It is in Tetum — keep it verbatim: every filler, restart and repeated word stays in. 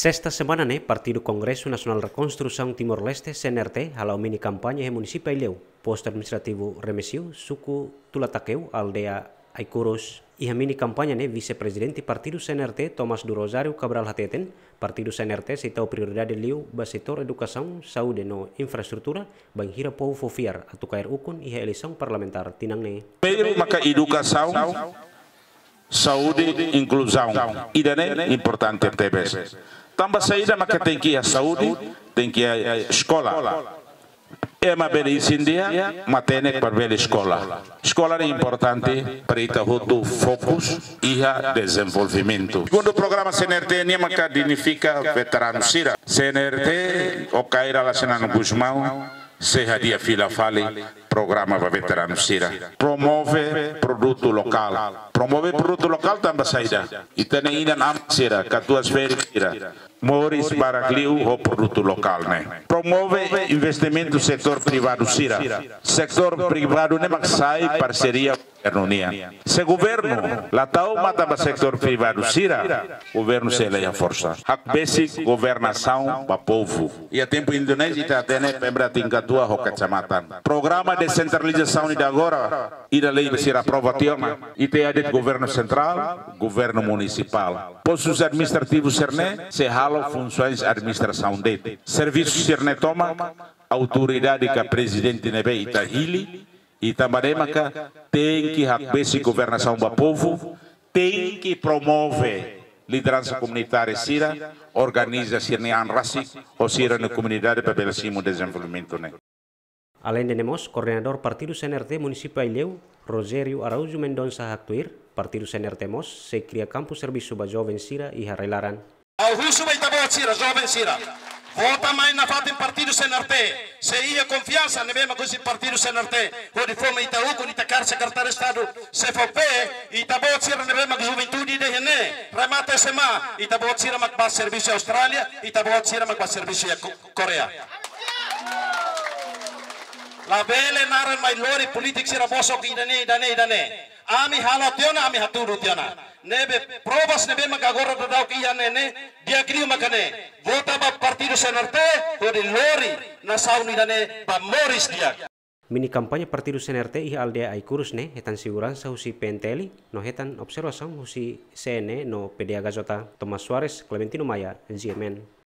Sesta semana ne'e, Partidu Kongresu Nasionál Rekonstrusaun Timor-Leste, C N R T, hala'o mini kampaña iha munisípiu Aileu, postu administrativu Remexio, suku Tulatakeu, aldeia Aikurus. Iha mini kampaña ne'e, Vise-Prezidente Partidu C N R T, Tomás do Rosário Cabral hateten, Partidu C N R T sei tau prioridade liu ba setór edukasaun, saúde no infraestrutura, bainhira povu fó fiar atu kaer ukun iha eleisaun parlamentár tinan ne'e. Primeiru maka edukasaun, saúde, inkluzaun. Ida-ne'e importante tebes. Tanba saida maka tenke iha saúde, tenke iha, eh, eskola. Ema bele isin di'ak, matenek para bele eskola. Eskola ne'e importante para ita hotu fokus iha dezenvolvimentu. Segundu programa C N R T nian maka dignifika veteranu sira. C N R T ho Kay Rala Xanana Gusmão sei hadi'a fila fali programa ba veteranu sira. Promove produtu lokál. Promove produtu lokál tanba saida? Ita-nia inan-aman sira, katuas-ferik sira, moris barak liu ho produtu lokál ne'e. Promove investimentu setór privadu sira. Setór privadu ne'e mak sai parseria governu nian. Se governu la tau matan ba setór privadu sira, governu sei la iha forsa. Hakbesik governasaun ba povu. Iha tempu Indonézia ita hatene pemda tingkat dua ho kecamatan. Programa desentralizasaun ida agora, ida lei sira aprova tiha ona. Ita iha de'it governu sentrál, governu munisipál. Postus administrativus sira-ne'e sei halo funsoens administrasaun de'it. Servisu sira-ne'e tomak autoridade ka prezidente ne'ebé ita hili, i tanba ne'e maka tenke hakbesik governasaun ba povu, tenke promove lideransa komunitária sira, organiza sira-nia an rasik ho sira-nia komunidade para bele simu dezenvolvimentu ne'e. Aleinde ne'e mós, koordenadór Partidu C N R T munisípiu Aileu, Rogério Araújo Mendonça haktuir, Partidu C N R T mós sei kria kampu servisu ba joven sira iha rai-laran. Ha'u husu ba ita-boot sira, joven sira. Vota mai nafatin Partidu C N R T. Se iha konfiansa ne'ebé mak husi Partidu C N R T hodi fó mai ita ukun, ita kaer Sekretáriu Estadu, se fó pé, ita-boot sira ne'ebé mak juventude ida iha ne'e, remata S M A, ita-boot sira mak bá servisu iha Austrália, ita-boot sira mak bá servisu iha Ko-, Koreia. Labele naran mai lori polítiku sira bosok ida-ne'e, ida-ne'e, ida-ne'e. Ami halo tiha ona, ami hatudu tiha ona. Ne'ebé provas ne'ebé maka agora daudaun iha ne'e ne'e, di'ak liu maka ne'e. Vota ba Partidu C N R T, hodi lori nasaun ida-ne'e ba moris di'ak. Mini kampaña Partidu C N R T iha aldeia Aikurus ne'e hetan seguransa husi P N T L, no hetan observasaun husi C N E no P D H J. Tomás Soares, Clementino Maia, G M N.